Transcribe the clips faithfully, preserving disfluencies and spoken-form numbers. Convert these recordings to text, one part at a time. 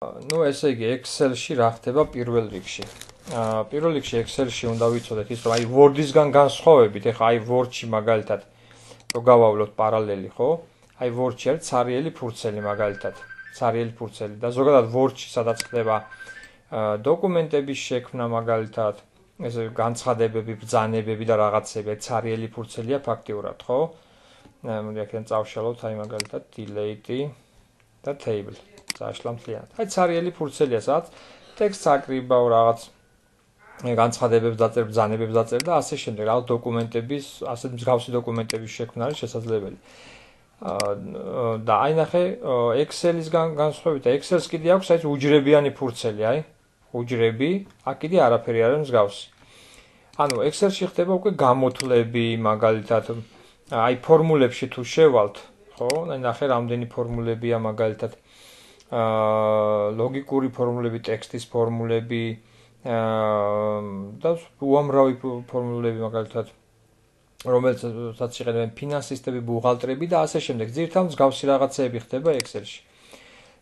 ნუ ესე იგი Excel-ში რა ხდება პირველ რიგში. აა პირველ რიგში Excel-ში უნდა ვიცოდეთ ის რომ აი Word-ისგან განსხვავებით, ეხლა აი Word-ში მაგალითად რო გავავლოთ პარალელი, ხო? აი Word-ში არის ცარიელი ფურცელი მაგალითად. ცარიელი ფურცელი და ზოგადად Word-ში სადაც ხდება დოკუმენტების შექმნა მაგალითად, ესე განცხადებები, ბრძანებები და რაღაცები, ცარიელი ფურცელია ფაქტიურად, ხო? მოდი აქედან წავშალოთ აი მაგალითად delete და table. Zašlam მთლიანად. აი ცარიელი ფურცელია, სადაც ტექსტს აკრიბავ რაღაც განცხადებებს დაწერ, ბრძანებებს დაწერ და ასე შემდეგ. რაღაც დოკუმენტების, ასეთ მსგავსი დოკუმენტების შექმნა არის შესაძლებელი. და აი ნახე Excel-ისგან განსხვავებით, Excel-ს კიდე აქვს აი უჯრებიანი ფურცელი, აი უჯრები, აქ კიდე არაფერი არ არის მსგავსი. ანუ Excel-ში ხდება უკვე გამოთვლები, მაგალითად, აი ფორმულებში თუ შევალთ, ხო? აი ნახე რამდენი ფორმულებია მაგალითად აა ლოგიკური ფორმულები, ტექსტის ფორმულები, აა და უამრავი ფორმულები მაგალითად რომელსაც იყენებენ ფინანსისტები, ბუღალტრები და ასე შემდეგ. ძირითადად მსგავსი რაღაცეები ხდება Excel-ში.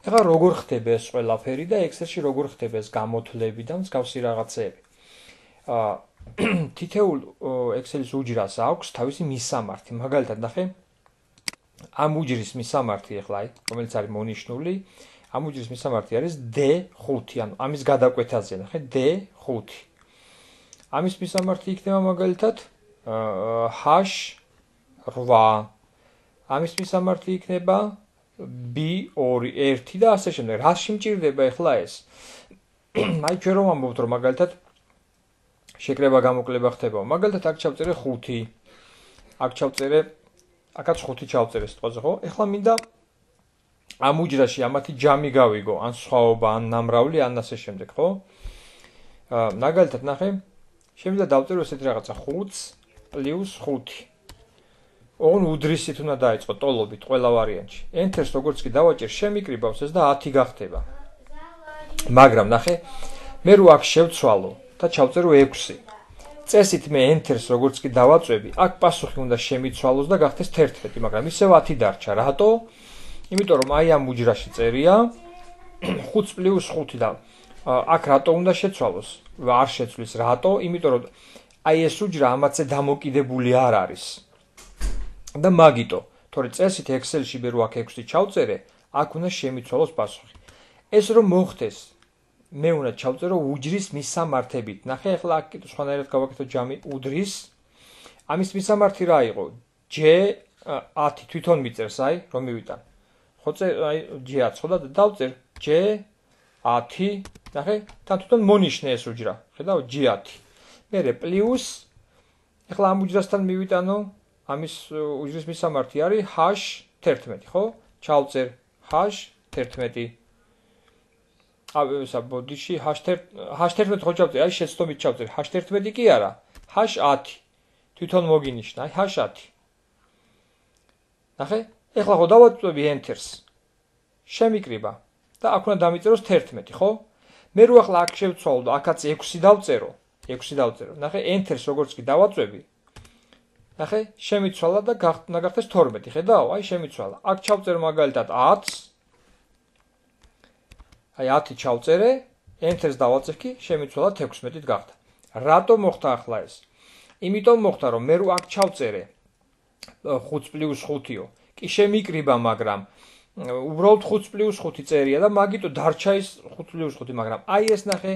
ეხლა როგორ ხდება ეს ყველაფერი და Excel-ში როგორ ხდება ეს გამოთვლები და მსგავსი რაღაცეები. აა თითოეულ Excel-ის უჯრას აქვს თავისი მისამართი. მაგალითად ნახე ამ უჯრის მისამართი ეხლა აი რომელიც არის მონიშნული ამ უჯრის მისამართი არის D ხუთი, ანუ ამის გადაკვეთაზე ნახე D ხუთი. ამის მისამართი იქნება მაგალითად H ორი. ამის მისამართი იქნება B ორი, ერთი და ასე შემდეგ. რაში მჭირდება ეხლა ეს? აი ჩვენ რომ ამბობთ რომ მაგალითად შეკრება გამოკლება ხდება. მაგალითად აქ ჩავწერე ხუთი. აქ ჩავწერე აქაც ხუთი ჩავწერე სიტყვაზე, ხო? ეხლა მინდა ამ უჯრაში ამათი ჯამი გავიგო, ან სხვაობა, ან ნამრავლი, ან ასე შემდეგ, ხო? აა მაგალითად ნახე, შემიძლია დავწერო ესეთი რაღაცა ხუთს პლუს ხუთი. ოღონ უდრისით უნდა დაიწყო ტოლობით ყველა ვარიანტში. Enter-ს როგორც კი დავაჭერ, შემიკრიბავს ეს და ათი გახდება. მაგრამ ნახე, მე რო აქ შევცვალო და ჩავწერო ექვსი. წესით მე Enter-ს როგორც კი დავაწვევი, აქ პასუხი უნდა შემიცვალოს და გახდეს თერთმეტი, მაგრამ ისევ ათი დარჩა. რატო? იმიტომ რომ აი ამ უჯრაში წერია ხუთს პლუს ხუთი და აქ რატო უნდა შეცვალოს? არ შეცვლის რატო? იმიტომ რომ აი ეს უჯრა ამათზე დამოკიდებული არ არის. და მაგიტო, თორე წესით Excel-ში მე რო აქ ექვსი ჩავწერე, აქ უნდა შემიცვალოს პასუხი. ეს რომ მოხდეს, მე უნდა ჩავწერო უჯრის მისამართებით. ნახე, ახლა აქ კიდე სხვანაირად გავაკეთო ჯამი უდრის. ამის მისამართი რა იყო? J ათი თვითონ მიწერს, აი, რომ მივიტან. ხო წე, აი J ათი, ხო და დავწერ J ათი, ნახე, თან თვითონ მონიშნე ეს უჯრა. ხედავ J ათი. მერე პლუს ახლა ამ უჯრასთან მივიტანო, ამის უჯრის მისამართი არის H თერთმეტი, ხო? ჩავწერ H თერთმეტი. აი ესა ბოდიში H თერთმეტი ხო ჩავწერ, აი შეცდომით ჩავწერ. H თერთმეტი კი არა, H ათი. თვითონ მოგინიშნა, აი H ათი. ნახე? ეხლა ხო დავაწვევი Enter-ს. შემიკრიბა და აქ უნდა დამიწეროს თერთმეტი, ხო? მე რო ახლა აქ შევცვალო და აქაც ექვსი დავწერო, ექვსი დავწერო. ნახე, Enter-ს როგორც კი დავაწვევი. ნახე, შემიცვალა და უნდა გახდეს თორმეტი, ხედავ? აი შემიცვალა. აქ ჩავწერ მაგალითად ათს. აი ათი ჩავწერე, Enter-ს დავაწევი, შემიცვალა თექვსმეტით გახდა. რატო მოხდა ახლა ეს? იმიტომ მოხდა, რომ მე რო აქ ჩავწერე ხუთს პლუს ხუთიო, კი შემიკრიბა, მაგრამ უბრალოდ ხუთს პლუს ხუთი წერია და მაგიტო დარჩა ის ხუთს პლუს ხუთი, მაგრამ აი ეს ნახე,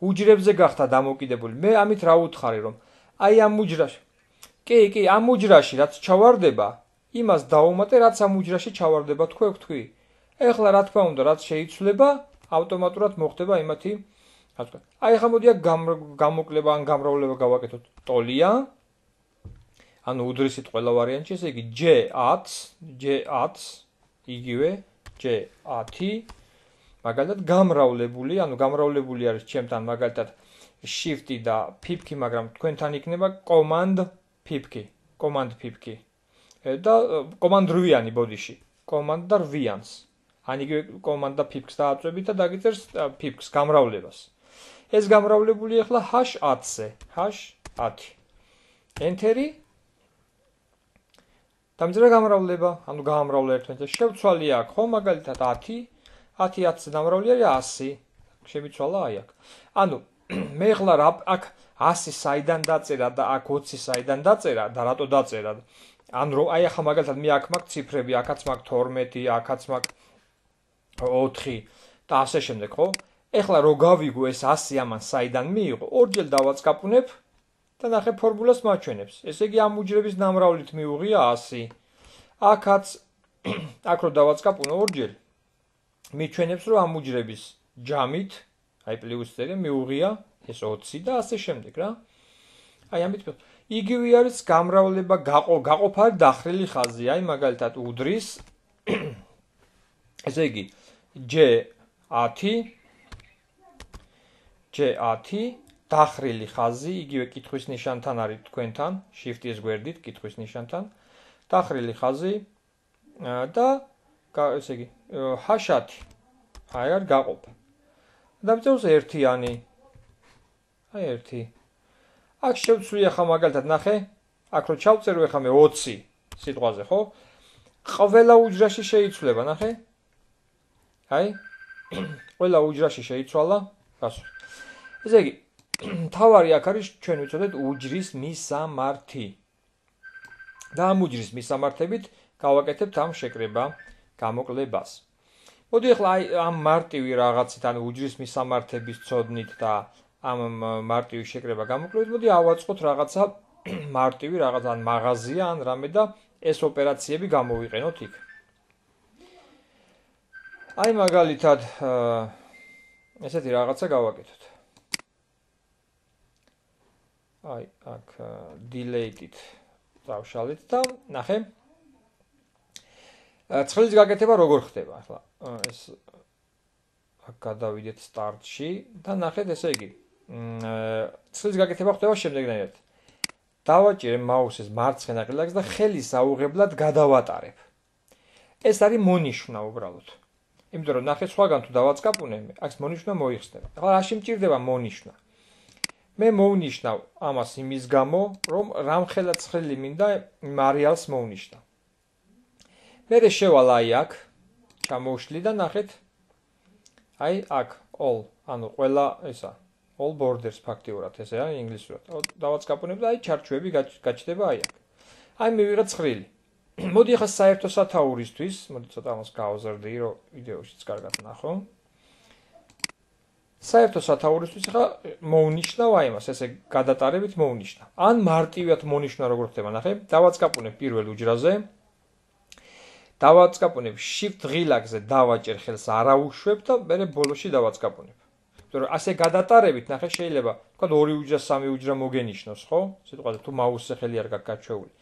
უჯრებზე გახდა დამოკიდებული. მე ამით რა ვუთხარი, რომ აი ამ უჯრაში კი, კი, ამ უჯრაში რაც ჩავარდება, იმას დავუმატე, რაც ამ უჯრაში ჩავარდება, თქვენ ვთქვი. ეხლა რა თქმა უნდა, რაც შეიცვლება, ავტომატურად მოხდება იმათი, რა თქვა. აი ახლა მოდი აქ გამოკლება ან გამრავლება გავაკეთოთ. ტოლია. ანუ უდრისით ყველა ვარიანტში, ესე იგი J ათს, J ათს, იგივე J ათი, მაგალითად გამრავლებული, ანუ გამრავლებული არის ჩემთან მაგალითად Shift-ი და Pip-ი, მაგრამ თქვენთან იქნება Command Pip-ი, Command Pip-ი. და Command რვიანი ბოდიში, Command და რვიანს. ან იგივე Command და Pip-ს დააწვევით და დაგიწერს Pip-ს გამრავლებას. ეს გამრავლებული ახლა H ათზე, H ათი. Enter-ი დამძრა გამრავლება, ანუ გაამრავლა ერთმანეთს. შევცვალე აქ, ხო, მაგალითად ათი, ათი ათზე დამრავლი არის ასი. შემიცვალა აი აქ. ანუ მე ხლა აქ ასი საიდან დაწერა და აქ ოცი საიდან დაწერა და რატო დაწერა? ან რო აი ახლა მაგალითად მე აქ მაქვს ციფრები, აქაც მაქვს თორმეტი, აქაც მაქვს ოთხი და ასე შემდეგ, ხო? ეხლა რო გავიგო ეს ასი ამან საიდან მიიღო, ორჯერ დავაწყაპუნებ და ნახე ფორმულას მაჩვენებს. ესე იგი ამ უჯრების ნამრავლით მიუღია ასი. აქაც აქ რო დავაწყაპუნო ორჯერ მიჩვენებს რომ ამ უჯრების ჯამით, აი პლუს წერია მიუღია ეს ოცი და ასე შემდეგ რა. აი ამით იგივე არის გამრავლება გაყო გაყოფარი დახრილი ხაზი, აი მაგალითად უდრის ესე იგი J ათი J ათი დახრილი ხაზი, იგივე კითხვის ნიშანთან არის თქვენთან, Shift-ის გვერდით კითხვის ნიშანთან, დახრილი ხაზი და ესე იგი H ათი. აი არ გაყოფა. დამწეროს ერთიანი. აი ერთი. აქ შევცვლი ახლა მაგალითად ნახე, აქ რო ჩავწერო ახლა მე ოცი სიტყვაზე, ხო? ყველა უჯრაში შეიცვლება, ნახე? აი, ყველა უჯრაში შეიცვალა, გასულ. ესე იგი, თავარი აქ არის ჩვენ ვიცოდეთ უჯრის მისამართი. და ამ უჯრის მისამართებით გავაკეთებთ ამ შეკრება გამოკლებას. მოდი ახლა აი ამ მარტივი რაღაცით, ანუ უჯრის მისამართების ცოდნით და ამ მარტივი შეკრება გამოკლებით, მოდი ავაწყოთ რაღაცა მარტივი რაღაც ან მაღაზია ან რამე და ეს ოპერაციები გამოვიყენოთ იქ. აი მაგალითად ესეთი რაღაცა გავაკეთოთ. აი აქ delete-ით დავშალეთ და ნახე. ცხრილის გაკეთება როგორ ხდება ახლა? ეს აქ გადავიდეთ start-ში და ნახეთ ესე იგი. ცხრილის გაკეთება ხდება შემდეგნაირად. დავაჭირე მაუსის მარცხენა ღილაკს და ხელის აუღებლად გადავატარებ. ეს არის მონიშნა უბრალოდ. იმიტომ რომ ნახე სხვაგან თუ დავაწყაპუნე, აქ მონიშნა მოიხსნება. ახლა რაში მჭირდება მონიშნა? მე მოვნიშნავ ამას იმის გამო, რომ რამხელა ცხრილი მინდა იმ არეალს მოვნიშნა. მე შევალ აი აქ, ჩამოვშლი და ნახეთ. აი აქ all, ანუ ყველა ესა, all borders ფაქტიურად ესე არის ინგლისურად. დავაწყაპუნებ და აი ჩარჩოები გაჩნდება აი აქ. აი მივიღე ცხრილი. მოდი ახლა საერთო სათაურისთვის, მოდი ცოტა ამას გავაზრდი, რომ ვიდეოშიც კარგად ნახო. საერთო სათაურისთვის ახლა მოვნიშნავ აი მას, ესე გადატარებით მოვნიშნავ. ან მარტივად მონიშნა როგორ ხდება, ნახე, დავაწყაპუნებ პირველ უჯრაზე. დავაწყაპუნებ Shift ღილაკზე, დავაჭერ ხელს არაუშვებ და მე ბოლოში დავაწყაპუნებ. იმიტომ რომ ასე გადატარებით, ნახე, შეიძლება თქვა ორი უჯრა, სამი უჯრა მოგენიშნოს, ხო? სიტყვაზე თუ მაუსზე ხელი არ გაქვს გაჩვეული.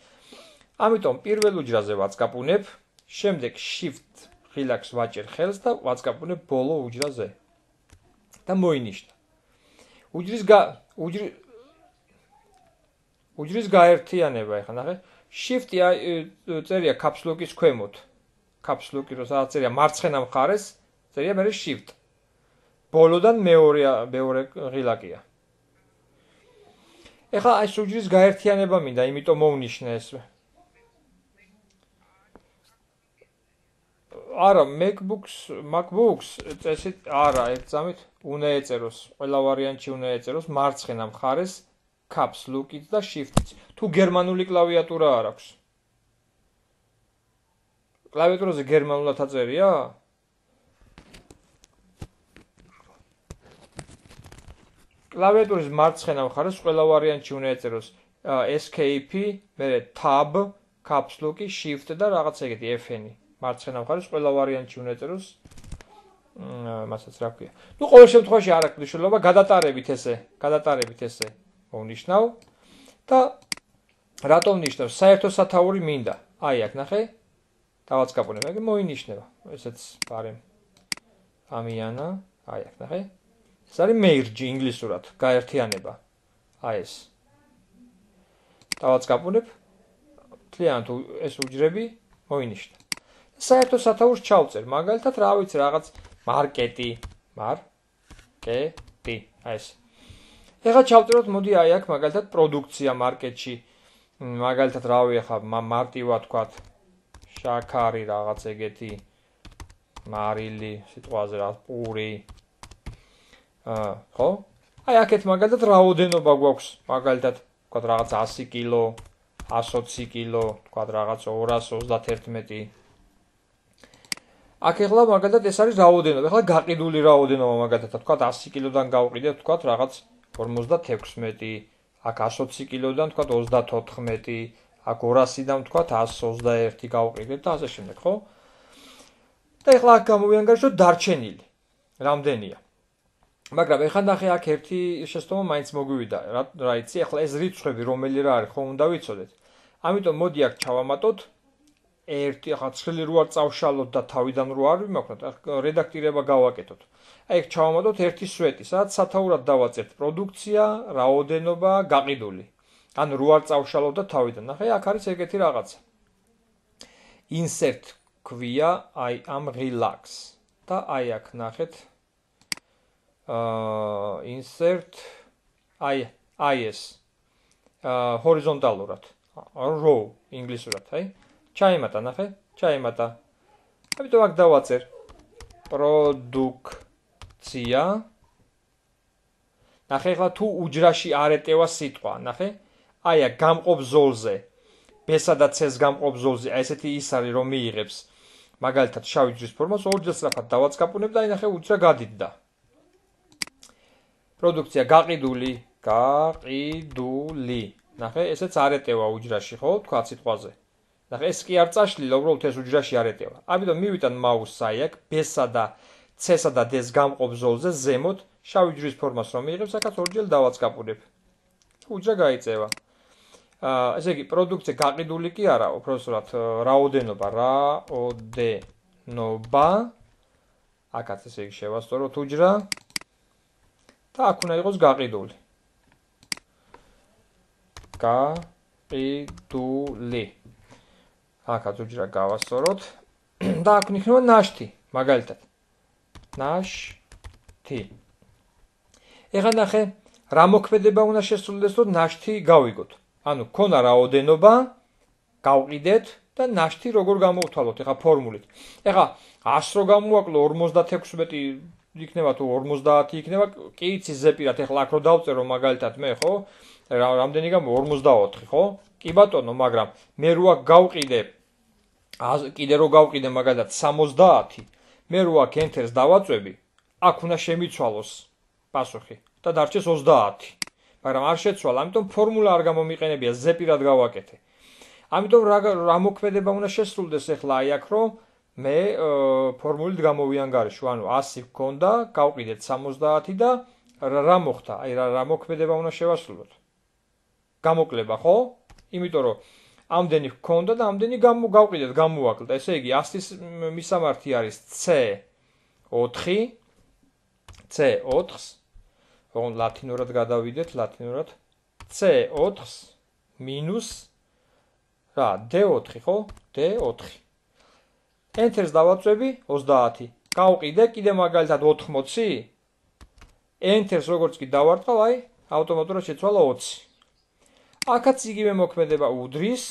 ამიტომ პირველ უჯრაზე ვაწყაპუნებ, შემდეგ Shift ღილაკს ვაჭერ ხელს და ვაწყაპუნებ ბოლო უჯრაზე. და მოინიშნა. უჯრის გა უჯრი უჯრის გაერთიანება ახლა ნახე. Shift-ი წერია caps lock-ის ქვემოთ. caps lock-ი რო სადაც წერია მარცხენა მხარეს, წერია მე Shift. ბოლოდან მეორე მეორე ღილაკია. ეხლა ეს უჯრის გაერთიანება მინდა, იმიტომ მოვნიშნე ეს. არა, MacBooks, MacBooks წესით არა, ერთზამით უნდა ეწეროს, ყველა ვარიანტში უნდა ეწეროს მარცხენა მხარეს caps lock-ით და Shift-ით. თუ გერმანული კლავიატურა არ აქვს. კლავიატურაზე გერმანულად აწერია? კლავიატურის მარცხენა მხარეს ყველა ვარიანტში უნდა ეწეროს Escape, მერე Tab, caps lock-ი, Shift და რაღაც ეგეთი F-ი. მარცხენა მხარეს ყველა ვარიანტში უნდა ეწეროს მასაც რა ქვია. ნუ ყოველ შემთხვევაში არ აქვს მნიშვნელობა, გადატარებით ესე, გადატარებით ესე მოვნიშნავ და რატომ ნიშნავ? საერთო სათაური მინდა. აი აქ ნახე. დავაწყაპუნებ, ეგ მოინიშნება. ესეც პარემ ამიანა, აი აქ ნახე. ეს არის merge ინგლისურად, გაერთიანება. აი ეს. დავაწყაპუნებ. თლიანად ეს უჯრები მოინიშნა. საერთო სათაურს ჩავწერ, მაგალითად რა ვიცი რაღაც მარკეტი, მარკეტი, აი ეს. ეხლა ჩავწეროთ, მოდი აი აქ მაგალითად პროდუქცია მარკეტში, მაგალითად რავი ახლა მარტივად თქვათ შაქარი რაღაც ეგეთი მარილი, სიტყვაზე რა, პური. აა, ხო? აი აქეთ მაგალითად რაოდენობა გვაქვს, მაგალითად, ვთქვათ რაღაც ასი კილო, ასი ოცი კილო, ვთქვათ რაღაც ორას ოცდაათერთმეტი. აქ ეხლა მაგალითად ეს არის რაოდენობა, ეხლა გაყიდული რაოდენობა მაგალითად, ვთქვათ ასი კილოდან გავყიდეთ, ვთქვათ რაღაც ორმოცდათექვსმეტი, აქ ასი ოცი კილოდან ვთქვათ ოცდათოთხმეტი, აქ ორასიდან ვთქვათ ასი ოცდაერთი გავყიდეთ და ასე შემდეგ, ხო? და ეხლა აქ გამოვიანგარიშო დარჩენილი. რამდენია? მაგრამ ეხლა ნახე აქ ერთი შეცდომა მაინც მოგვივიდა. რა იცი, ეხლა ეს რიცხვები რომელი რა არის, ხო უნდა ვიცოდეთ. ამიტომ მოდი აქ ჩავამატოთ ერთი, ახლა ცხრილი რო არ წავშალოთ და თავიდან რო არ ვიმოქმედოთ, რედაქტირება გავაკეთოთ. აი ეგ ჩავამატოთ ერთი სვეტი, სადაც სათაურად დავაწერთ პროდუქცია, რაოდენობა, გაყიდული. ანუ რო არ წავშალოთ და თავიდან. ნახე, აქ არის ეგეთი რაღაცა. insert ქვია აი ამ relax და აი აქ ნახეთ აა insert აი აი ეს აა ჰორიზონტალურად row ინგლისურად აი ჩაიმატა ნახე ჩაიმატა ამიტომ აქ დავაწერ პროდუქცია ნახე ახლა თუ უჯრაში არ ეტევა სიტყვა ნახე აი აქ გამყოფ ზოლზე B-სა და C-ს გამყოფ ზოლზე აი ესეთი ის არის რომ მიიღებს მაგალითად შავი ჯვრის ფორმას ორჯერ სწრაფად დავაწყაპუნებ და აი ნახე უჯრა გადიდდა პროდუქცია გაყიდული გაყიდული ნახე ესეც არ ეტევა უჯრაში ხო თქვა სიტყვაზე ნახე ეს კი არ წაშლილა უბრალოდ ეს უჯრაში არ ეტევა ამიტომ მივიტან მაუსს აი აქ B-სა და C-სა და D-ს გამყოფ ზოლზე ზემოთ შავი ჯვრის ფორმას რომ მიიღებს აქაც ორჯერ დავაწყაპუნებ უჯრა გაიწევა აა ესე იგი პროდუქცია გაყიდული კი არა უბრალოდ რაოდენობა რაოდენობა აქაც ესე იგი შევასწოროთ უჯრა და აქ უნდა იყოს გაყიდული გაყიდული აქაც უჯრა გავასწოროთ და აქ იქნება ნაშთი მაგალითად ნაშთი ეხლა ნახე რა მოქმედება უნდა შესრულდეს რომ ნაშთი გავიგოთ ანუ ქონა რაოდენობა გავყიდეთ და ნაშთი როგორ გამოვთვალოთ ეხლა ფორმულით ეხლა ასი რო გამოვაკლო ორმოცდათექვსმეტი იქნება თუ ორმოცდაათი იქნება კი იცი ზეპირად ეხლა აქ რო დავწერო მაგალითად მე ხო რამდენი გამო ორმოცდაოთხი ხო კი ბატონო მაგრამ მე რო აქ გავყიდე კიდე რო გავყიდე მაგალითად სამოცდაათი მე რო აქ enter-ს დავაწვევი აქ უნდა შემიცვალოს პასუხი და დარჩეს ოცდაათი მაგრამ არ შეცვალა, ამიტომ ფორმულა არ გამომიყენებია, ზეპირად გავაკეთე. ამიტომ რა მოქმედება უნდა შესრულდეს ახლა აი აქ რომ მე ფორმულით გამოვიანგარიშო, ანუ ასი გქონდა, გავყიდეთ სამოცდაათი და რა მოხდა? აი რა მოქმედება უნდა შევასრულოთ? გამოკლება, ხო? იმიტომ რომ ამდენი გქონდა და ამდენი გავყიდეთ, გამოვაკლდა. ესე იგი ასის მისამართი არის C ოთხი, C ოთხს რომ ლათინურად გადავიდეთ, ლათინურად C ოთხს მინუს რა D ოთხი ხო? D ოთხი. Enter-ს დავაწვევი ოცდაათი. გავყიდე კიდე მაგალითად ოთხმოცი. Enter-ს როგორც კი დავარტყავ, აი ავტომატურად შეცვალა ოცი. აქაც იგივე მოქმედება უდრის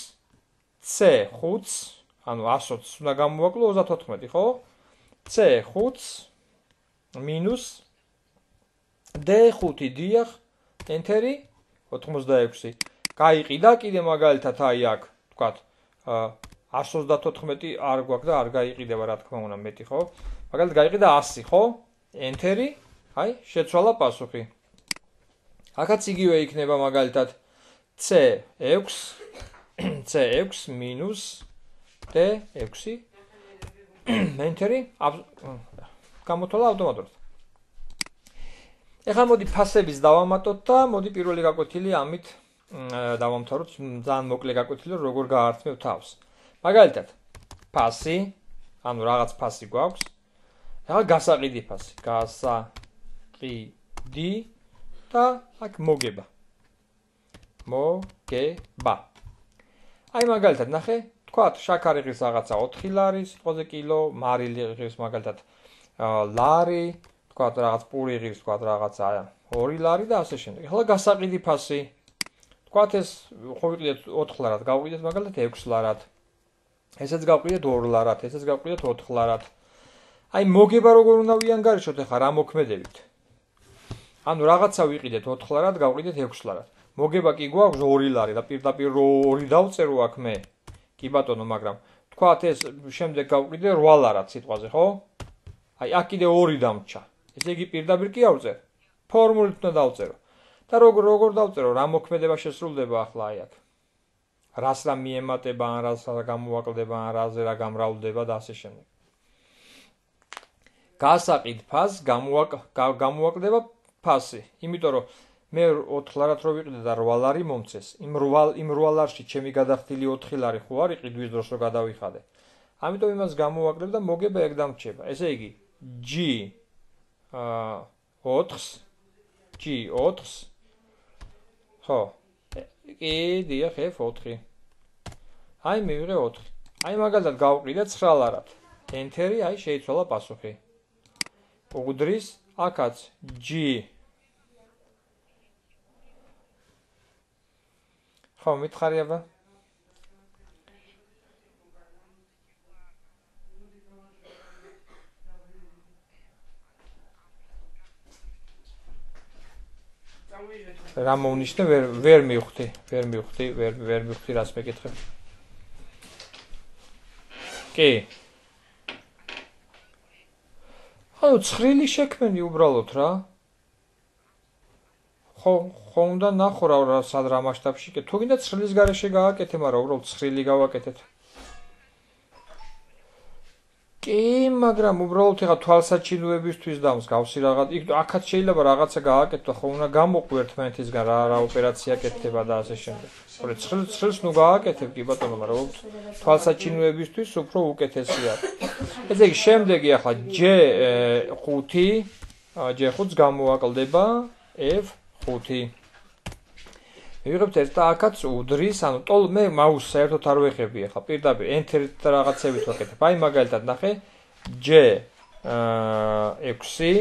C ხუთს, ანუ ასი ოცს უნდა გამოვაკლო ოცდათოთხმეტი, ხო? C ხუთს მინუს D ხუთი დიახ, enter-ი ოთხმოცდაექვსი. გაიყიდა კიდე მაგალითად აი აქ, ვთქვათ, ასი ოცდათოთხმეტი არ გვაქვს და არ გაიყიდება რა თქმა უნდა მეტი, ხო? მაგალითად გაიყიდა ასი, ხო? enter-ი, აი, შეცვალა პასუხი. აქაც იგივე იქნება მაგალითად C ექვსი, C ექვსი მინუს D ექვსი. enter-ი გამოთვალა ავტომატურად. ეხლა მოდი ფასების დავამატოთ და მოდი პირველი გაკვეთილი ამით დავამთავროთ ძალიან მოკლე გაკვეთილი როგორ გაართმევ თავს. მაგალითად, ფასი, ანუ რაღაც ფასი გვაქვს. ეხლა გასაყიდი ფასი, გასაყიდი და აქ მოგება. მოგება. აი მაგალითად ნახე, თქვათ, შაქარი ღირს რაღაცა ოთხი ლარი, სიტყვაზე კილო, მარილი ღირს მაგალითად ლარი თქვათ რაღაც პური ღირს თქვათ რაღაცა ორი ლარი და ასე შემდეგ. ახლა გასაყიდი ფასი. თქვათ ეს ხო ვიყიდეთ ოთხ ლარად, გავყიდეთ მაგალითად ექვს ლარად. ესეც გავყიდეთ ორ ლარად, ესეც გავყიდეთ ოთხ ლარად. აი მოგება როგორ უნდა ვიანგარიშოთ ახლა რა მოქმედებით? ანუ რაღაცა ვიყიდეთ ოთხ ლარად, გავყიდეთ ექვს ლარად. მოგება კი გვაქვს ორი ლარი და პირდაპირ ორი დავწერო აქ მე. კი ბატონო, მაგრამ თქვათ ეს შემდეგ გავყიდე რვა ლარად სიტყვაზე, ხო? აი აქ კიდე ორი დამრჩა. ესე იგი პირდაპირ კი ავწერ. ფორმულით უნდა დავწერო. და როგორ როგორ დავწერო, რა მოქმედება შესრულდება ახლა აი აქ. რას რა მიემატება, ან რას რა გამოვაკლდება, ან რაზე რა გამრავლდება და ასე შემდეგ. გასაყიდ ფასს გამოვაკლდება ფასი, იმიტომ რომ მე ოთხ ლარად რო ვიყიდე და რვა ლარი მომწეს, იმ რვა ლარში ჩემი გადახდილი ოთხი ლარი ხო არ იყიდვის დროს რო გადავიხადე. ამიტომ იმას გამოვაკლებ და მოგება ეგ დამრჩება. ესე იგი G ოთხს G ოთხს ხო კი დიახ F ოთხი. აი მივიღე ოთხი. აი მაგალითად გავყიდე ცხრა ლარად. ენტერი, აი შეიცვალა პასუხი. უდრის აქაც G ხო მითხარი აბა რა მოუნიშნე ვერ ვერ მივხვდი ვერ მივხვდი ვერ ვერ მივხვდი რას მეკითხებ კი ანუ ცხრილი შექმენი უბრალოდ რა ხო ხო უნდა ნახო რა სად რა მასშტაბში კი თუ გინდა ცხრილის გარეშე გააკეთე მაგრამ უბრალოდ ცხრილი გავაკეთეთ კი მაგრამ უბრალოდ ეხა თვალსაჩინოებისთვის და მსგავსი რაღაც იქ აქაც შეიძლება რაღაცა გააკეთო ხო უნდა გამოყვი ერთმანეთისგან რა რა ოპერაცია კეთდება და ასე შემდეგ ხოლო ცხრილს ცხრილს ნუ გააკეთებ კი ბატონო მაგრამ თვალსაჩინოებისთვის უფრო უკეთესია ესე იგი შემდეგი ახლა J ხუთი J ხუთს გამოვაკლდება F ხუთი მივიღებთ ერთ და აქაც უდრის, ანუ ტოლ მე მაუსს საერთოდ არ ვეხები ახლა პირდაპირ enter-ით და რაღაცებით ვაკეთებ. აი მაგალითად ნახე J ექვსი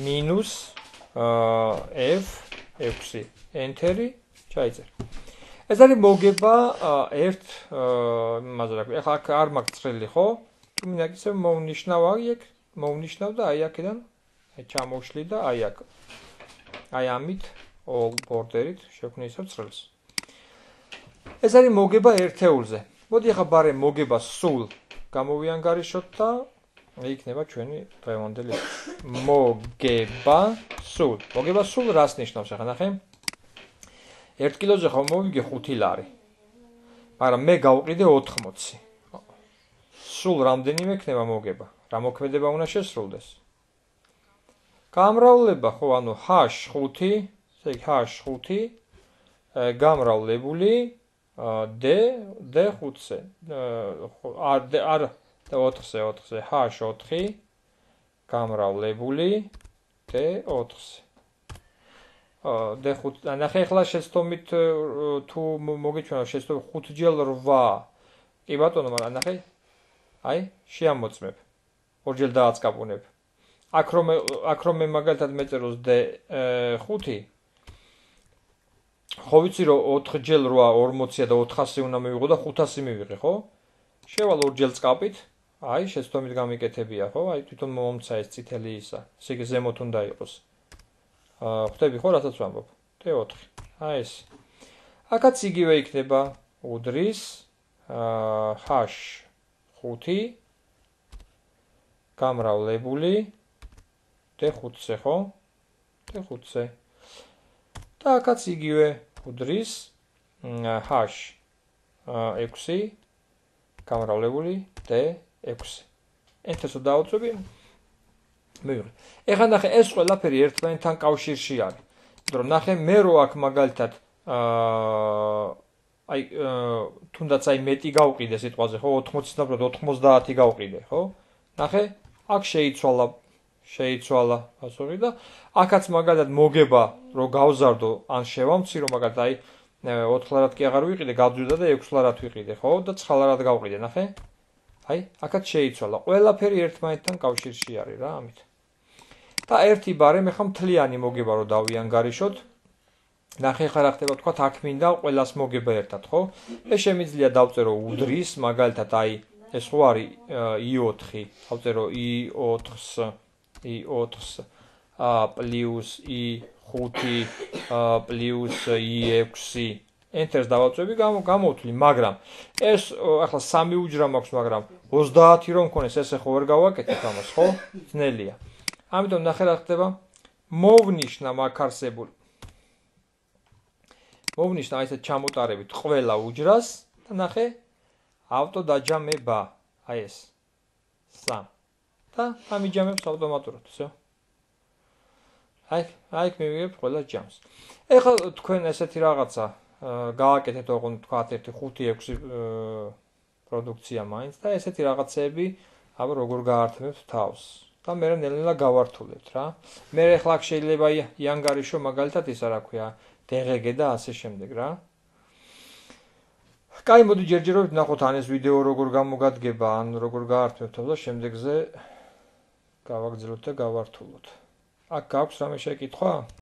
მინუს F ექვსი enter-ი ჩაიწერ. ეს არის მოგება ერთ იმაზე რა ქვია. ახლა აქ არ მაქვს წრილი ხო? თუ მინდა ისე მოვნიშნავ აქ, მოვნიშნავ და აი აქედან აი ჩამოვშლი და აი აქ. აი ამით all border-ით შევქმნი ისევ წრილს. ეს არის მოგება ერთეულზე. მოდი ახლა ბარე მოგება სულ გამოვიანგარიშოთ და იქნება ჩვენი დღევანდელი მოგება სულ. მოგება სულ რას ნიშნავს ახლა ნახე? ერთ კილოზე ხომ მოვიგე ხუთი ლარი. მაგრამ მე გავყიდე ოთხმოცი. სულ რამდენი მექნება მოგება? რა მოქმედება უნდა შესრულდეს? გამრავლება ხო ანუ H ხუთი ესე იგი H ხუთი გამრავლებული D D ხუთზე არ არ ოთხზე ოთხზე H ოთხი გამრავლებული D ოთხზე D ხუთი ნახე ახლა შეცდომით თუ მოგიჩვენა შეცდომით ხუთჯერ რვა კი ბატონო მაგრამ ნახე აი შეამოწმებ ორჯერ დააწყაბუნებ აქ რომ აქ რომ მე მაგალითად მეწეროს D ხუთი ხო ვიცი რომ ოთხჯერ რვა ორმოცი და ოთხასი უნდა მივიღო და ხუთასი მივიღე ხო? შევალ ორჯერ წკაპით, აი შეცდომით გამიკეთებია ხო? აი თვითონ მომცა ეს წითელი ისა. ესე იგი ზემოთ უნდა იყოს. აა ხვდები ხო რასაც ვამბობ? D ოთხი. აი ეს. აქაც იგივე იქნება უდრის აა H ხუთი გამრავლებული D ხუთზე ხო? D ხუთზე. და აქაც იგივე უდრის H ექვსი გამრავლებული D ექვსი. enter-ს დავუწევი. მივიღე. ეხლა ნახე ეს ყველაფერი ერთმანეთთან კავშირში არის. იმიტომ რომ ნახე მე რო აქ მაგალითად აა აი თუნდაც აი მეტი გავყიდე სიტყვაზე ხო ოთხმოცი და ოთხმოცდაათი გავყიდე ხო? ნახე აქ შეიცვალა შეიცვალა პასუხი და აქაც მაგალითად მოგება რო გავზარდო ან შევამცი რომ მაგალითად აი ოთხ ლარად კი აღარ ვიყიდე გავძვირდა და ექვს ლარად ვიყიდე ხო და ცხრა ლარად გავყიდე ნახე აი აქაც შეიცვალა ყველაფერი ერთმანეთთან კავშირში არის რა ამით და ერთი ბარე მე ხომ მთლიანი მოგება რო დავიანგარიშოთ ნახე ხარ რა ხდება თქვა აქ მინდა ყველას მოგება ერთად ხო ეს შემიძლია დავწერო უდრის მაგალითად აი ეს ხო არის i ოთხი, ავწერო i ოთხს, i ოთხს პლუს i ხუთი პლუს i ექვსი Enter-ს დავაწვევი, გამოვთვლი, მაგრამ ეს ახლა სამი უჯრა მაქვს, მაგრამ ოცდაათი რომ მქონეს, ესე ხო ვერ გავაკეთებ ამას, ხო? ძნელია. ამიტომ ნახე რა ხდება. მოვნიშნა მაგ არსებულ. მოვნიშნა აი ესეთ ჩამოტარებით ყველა უჯრას და ნახე ავტოდაჯამება. აი ეს. სამი. და ამიჯამებს ავტომატურად, всё. აი, აი მივიღებ ყველა ჯამს. ეხლა თქვენ ესეთი რაღაცა გააკეთეთ ოღონდ თქვათ ერთი ხუთი ექვსი პროდუქცია მაინც და ესეთი რაღაცები აბა როგორ გაართმევთ თავს და მე ნელ-ნელა გავართულებთ რა. მე ახლა შეიძლება იანგარიშო მაგალითად ისა რა ქვია დღგ და ასე შემდეგ რა. კაი მოდი ჯერჯერობით ნახოთ ან ეს ვიდეო როგორ გამოგადგება ან როგორ გაართმევთ და შემდეგზე გავაგრძელოთ და გავართულოთ. აქ გაქვს რამე შეკითხვა?